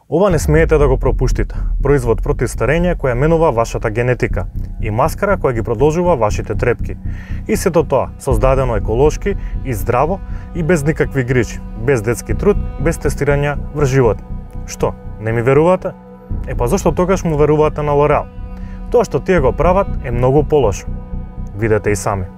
Ова не смеете да го пропуштите. Производ против старење која менува вашата генетика и маскара која ги продолжува вашите трепки. И сето тоа создадено еколошки и здраво и без никакви грижи, без детски труд, без тестирање врз живот. Што, не ми верувате? Па зашто тогаш му верувате на L'Oréal? Тоа што тие го прават е многу полошо. Видете и сами.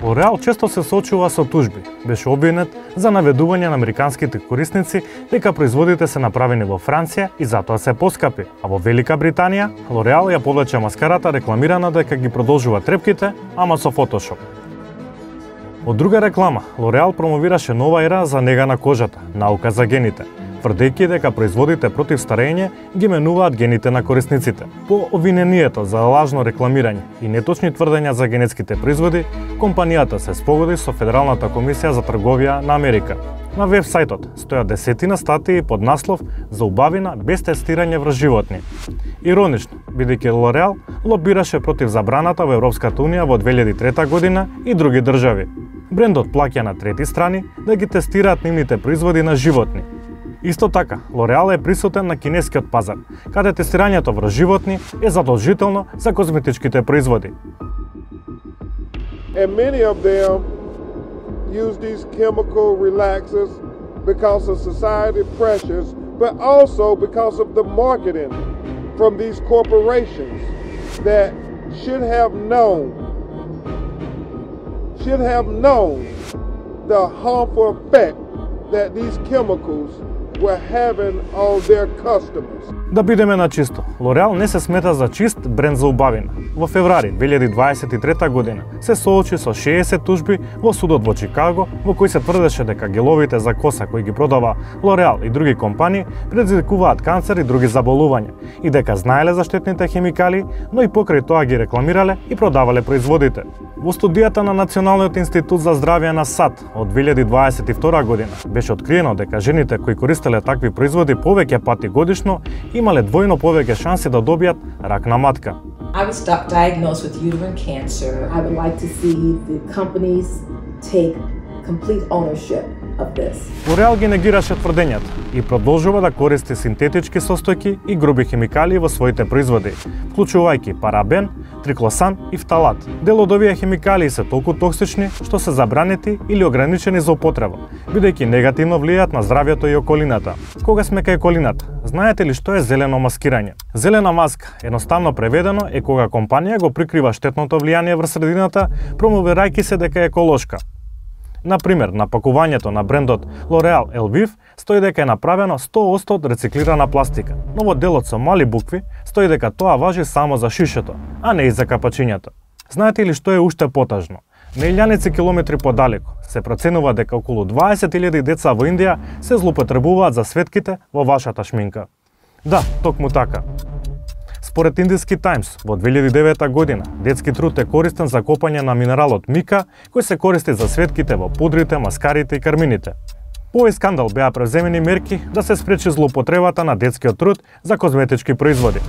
L'Oréal често се соочува со тужби. Беше обвинет за наведување на американските корисници дека производите се направени во Франција и затоа се поскапи, а во Велика Британија L'Oréal ја повлече маскарата рекламирана дека ги продолжува трепките, ама со фотошоп. Од друга реклама, L'Oréal промовираше нова ера за нега на кожата, наука за гените, тврдејќи дека производите против старење ги менуваат гените на корисниците. По обвинението за лажно рекламирање и неточни тврдења за генетските производи, компанијата се спогоди со Федералната комисија за трговија на Америка. На веб-сајтот стојат десетина статии под наслов "За убавина без тестирање врз животни". Иронично, бидејќи L'Oréal лобираше против забраната во Европската унија во 2003 година и други држави. Брендот плаќа на трети страни да ги тестираат нивните производи на животни. Исто така, L'Oréal е присутен на кинескиот пазар, каде тестирањето врз животни е задолжително за козметичките производи. And many of them use these chemical relaxers because of society pressures, but also because of the marketing from these corporations that should have known the harmful effect that these chemicals were having on their customers. Да бидеме на чисто, L'Oréal не се смета за чист бренд за убавина. Во февруари 2023 година се соочи со 60 тужби во судот во Чикаго, во кои се тврдеше дека геловите за коса кои ги продава L'Oréal и други компании предизвикуваат канцер и други заболувања и дека знаеле за штетните хемикали, но и покрај тоа ги рекламирале и продавале производите. Во студијата на Националниот институт за здравје на САД од 2022 година беше откриено дека жените кои користеле такви производи повеќе пати годишно имале двојно повеќе шанси да добијат рак на матка. I was diagnosed with uterine cancer. I would like to see the companies take complete ownership of this. L'Oréal ги негираше тврдењата и продолжува да користи синтетички состојки и груби хемикали во своите производи, вклучувајќи парабен, триклосан и фталат. Дел од овие хемикали се толку токсични што се забранети или ограничени за употреба, бидејќи негативно влијаат на здравјето и околината. Кога сме кај околината, знаете ли што е зелено маскирање? Зелена маска, едноставно преведено, е кога компанија го прикрива штетното влијание врз средината, промовирајќи се дека е еколошка. Например, на пакувањето на брендот L'Oréal Elvive стои дека е направено 100% од рециклирана пластика, но во делот со мали букви стои дека тоа важи само за шишето, а не и за капачињата. Знаете ли што е уште потажно? На илјаници километри подалеку се проценува дека околу 20.000 деца во Индија се злоупотребуваат за светките во вашата шминка. Да, токму така. Според Индиски Таймс, во 2009 година, детски труд е користен за копање на минералот мика, кој се користи за светките во пудрите, маскарите и кармините. По овој скандал беа преземени мерки да се спречи злоупотребата на детскиот труд за козметички производи.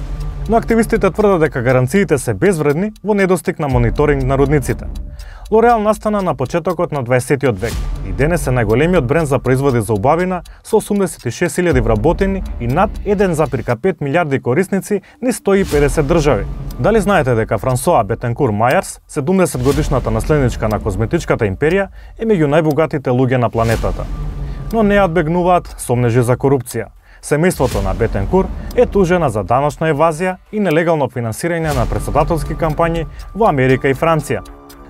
Но активистите тврдат дека гаранциите се безвредни во недостиг на мониторинг на родниците. L'Oréal настана на почетокот на 20 век и денес е најголемиот бренд за производи за убавина со 86.000 вработени и над 1,5 милиарди корисници низ 150 држави. Дали знаете дека Франсоа Бетенкур Мајерс, 70 годишната наследничка на козметичката империја, е меѓу најбогатите луѓе на планетата? Но не одбегнуваат сомнежи за корупција. Семејството на Бетенкур е тужена за даночна евазија и нелегално финансирање на претседателски кампањи во Америка и Франција.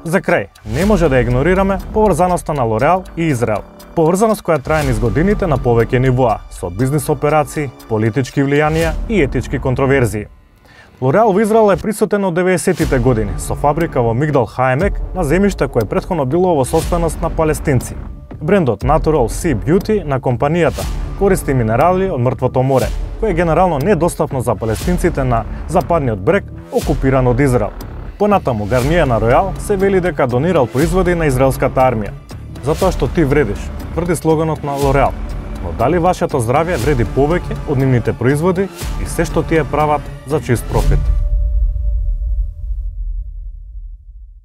За крај, не може да игнорираме поврзаноста на L'Oréal и Израел. Поврзаност која трае низ годините на повеќе нивоа, со бизнис операции, политички влијанија и етички контроверзии. L'Oréal во Израел е присутен од 90-тите години, со фабрика во Мигдал Хаемек на земјиште кое претходно било во собственост на палестинци. Брендот Natural Sea Beauty на компанијата користи минерали од мртвото море, кое е генерално недостапно за палестинците на западниот брег, окупиран од Израел. Понатаму Гарниер на Royal се вели дека донирал производи на израелската армија. Затоа што ти вредиш, тврди слоганот на L'Oréal. Но дали вашето здравје вреди повеќе од нивните производи и се што тие прават за чист профит?